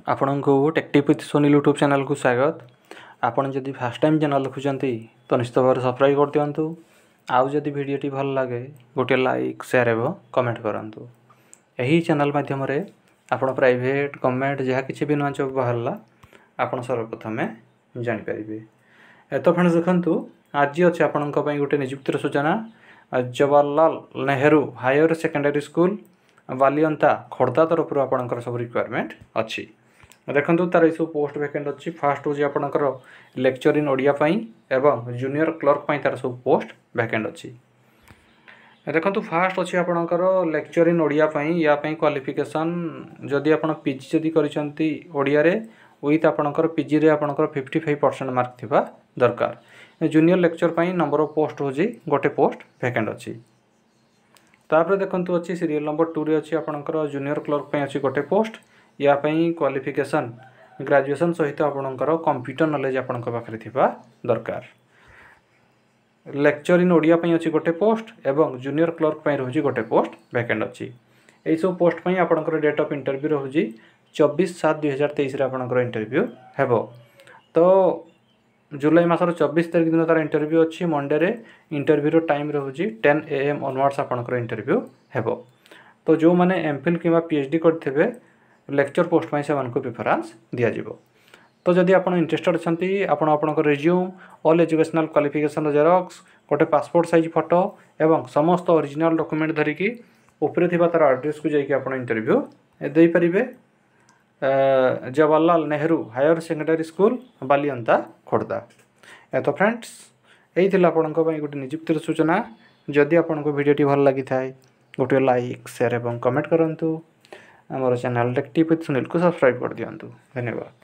ଆପଣଙ୍କୁ ଟେକ୍ଟିଭ୍ with Sunil YouTube ଚ୍ୟାନେଲ୍କୁ ସ୍ୱାଗତ। ଆପଣ ଯଦି ଫାର୍ଷ୍ଟ ଟାଇମ୍ ଚ୍ୟାନେଲ୍ ଦେଖୁଛନ୍ତି, ତ ନିଶ୍ଚିତ ଭାବରେ ସବସ୍କ୍ରାଇବ୍ କରିଦିଅନ୍ତୁ। ଆଉ ଯଦି ଭିଡ଼ିଓଟି ଭଲ ଲାଗେ, ଗୋଟିଏ ଲାଇକ୍, ସେୟାର ଏବଂ କମେଣ୍ଟ କରନ୍ତୁ। ଏହି ଚ୍ୟାନେଲ୍ ମାଧ୍ୟମରେ ଆପଣ ପ୍ରାଇଭେଟ୍, ଗଭର୍ଣ୍ଣମେଣ୍ଟ ଯାହା କିଛି ବି ନୂଆ ଜବ୍ ବାହାରିଲା, ଆପଣ ସର୍ବପ୍ରଥମେ ଜାଣିପାରିବେ। ତ ଫ୍ରେଣ୍ଡସ୍, ଦେଖନ୍ତୁ, ଆଜି ଅଛି ଆପଣଙ୍କ ପାଇଁ ଗୋଟେ ନିଯୁକ୍ତିର ସୂଚନା। Jawaharlal Nehru higher secondary school, Balianta, Khordha ତରଫରୁ ଆପଣଙ୍କର ସବୁ ରିକ୍ୱାରମେଣ୍ଟ ଅଛି। ଦେଖନ୍ତୁ, ତାର ଏସବୁ ପୋଷ୍ଟ ଭ୍ୟାକେଣ୍ଟ ଅଛି। ଫାର୍ଷ୍ଟ ହେଉଛି ଆପଣଙ୍କର ଲେକ୍ଚର ଇନ୍ ଓଡ଼ିଆ ପାଇଁ ଏବଂ ଜୁନିୟର କ୍ଲର୍କ ପାଇଁ ତାର ସବୁ ପୋଷ୍ଟ ଭ୍ୟାକେଣ୍ଟ ଅଛି। ଦେଖନ୍ତୁ, ଫାର୍ଷ୍ଟ ଅଛି ଆପଣଙ୍କର ଲେକ୍ଚର ଇନ୍ ଓଡ଼ିଆ ପାଇଁ। ୟା ପାଇଁ କ୍ୱାଲିଫିକେସନ୍ ଯଦି ଆପଣ ପିଜି ଯଦି କରିଛନ୍ତି ଓଡ଼ିଆରେ, ୱିଥ୍ ଆପଣଙ୍କର ପିଜିରେ ଆପଣଙ୍କର 55% ମାର୍କ ଥିବା ଦରକାର। ଜୁନିୟର ଲେକ୍ଚର ପାଇଁ ନମ୍ବର ଅଫ୍ ପୋଷ୍ଟ ହେଉଛି ଗୋଟେ ପୋଷ୍ଟ ଭ୍ୟାକେଣ୍ଟ ଅଛି। ତାପରେ ଦେଖନ୍ତୁ, ଅଛି ସିରିଏଲ୍ ନମ୍ବର 2ରେ ଅଛି ଆପଣଙ୍କର ଜୁନିୟର କ୍ଲର୍କ ପାଇଁ ଅଛି ଗୋଟେ ପୋଷ୍ଟ। ୟା ପାଇଁ କ୍ୱାଲିଫିକେସନ୍ ଗ୍ରାଜୁଏସନ୍ ସହିତ ଆପଣଙ୍କର କମ୍ପ୍ୟୁଟର ନଲେଜ୍ ଆପଣଙ୍କ ପାଖରେ ଥିବା ଦରକାର। ଲେକ୍ଚର ଇନ୍ ଓଡ଼ିଆ ପାଇଁ ଅଛି ଗୋଟେ ପୋଷ୍ଟ ଏବଂ ଜୁନିୟର କ୍ଲର୍କ ପାଇଁ ରହୁଛି ଗୋଟେ ପୋଷ୍ଟ ଭ୍ୟାକେଣ୍ଟ ଅଛି। ଏଇସବୁ ପୋଷ୍ଟ ପାଇଁ ଆପଣଙ୍କର ଡେଟ୍ ଅଫ୍ ଇଣ୍ଟରଭ୍ୟୁ ରହୁଛି 24/7/2023ରେ ଆପଣଙ୍କର ଇଣ୍ଟରଭ୍ୟୁ ହେବ। ତ ଜୁଲାଇ ମାସର 24 ତାରିଖ ଦିନ ତା'ର ଇଣ୍ଟରଭ୍ୟୁ ଅଛି, ମଣ୍ଡେରେ। ଇଣ୍ଟରଭ୍ୟୁର ଟାଇମ୍ ରହୁଛି 10 AM onwards ଆପଣଙ୍କର ଇଣ୍ଟରଭ୍ୟୁ ହେବ। ତ ଯେଉଁମାନେ ଏମ୍ ଫିଲ୍ କିମ୍ବା ପିଏଚ୍ ଡି କରିଥିବେ, ଲେକ୍ଚର ପୋଷ୍ଟ ପାଇଁ ସେମାନଙ୍କୁ ପ୍ରିଫରାନ୍ସ ଦିଆଯିବ। ତ ଯଦି ଆପଣ ଇଣ୍ଟରେଷ୍ଟେଡ଼ ଅଛନ୍ତି, ଆପଣ ଆପଣଙ୍କ ରେଜ୍ୟୁମ୍, ଅଲ୍ ଏଜୁକେସନାଲ୍ କ୍ୱାଲିଫିକେସନ୍ର ଜେରକ୍ସ, ଗୋଟେ ପାସପୋର୍ଟ ସାଇଜ୍ ଫଟୋ ଏବଂ ସମସ୍ତ ଅରିଜିନାଲ୍ ଡକୁମେଣ୍ଟ ଧରିକି ଉପରେ ଥିବା ତା'ର ଆଡ୍ରେସ୍କୁ ଯାଇକି ଆପଣ ଇଣ୍ଟରଭ୍ୟୁ ଦେଇପାରିବେ। Jawaharlal Nehru higher secondary school, Balianta, Khordha. ତ ଫ୍ରେଣ୍ଡସ୍, ଏଇ ଥିଲା ଆପଣଙ୍କ ପାଇଁ ଗୋଟେ ନିଯୁକ୍ତିର ସୂଚନା। ଯଦି ଆପଣଙ୍କୁ ଭିଡ଼ିଓଟି ଭଲ ଲାଗିଥାଏ, ଗୋଟିଏ ଲାଇକ୍, ସେୟାର ଏବଂ କମେଣ୍ଟ କରନ୍ତୁ। ଆମର ଚ୍ୟାନେଲ୍ ଟେକ୍ଟିଭ୍ ୱିଥ୍ ସୁନୀଲକୁ ସବସ୍କ୍ରାଇବ୍ କରିଦିଅନ୍ତୁ। ଧନ୍ୟବାଦ।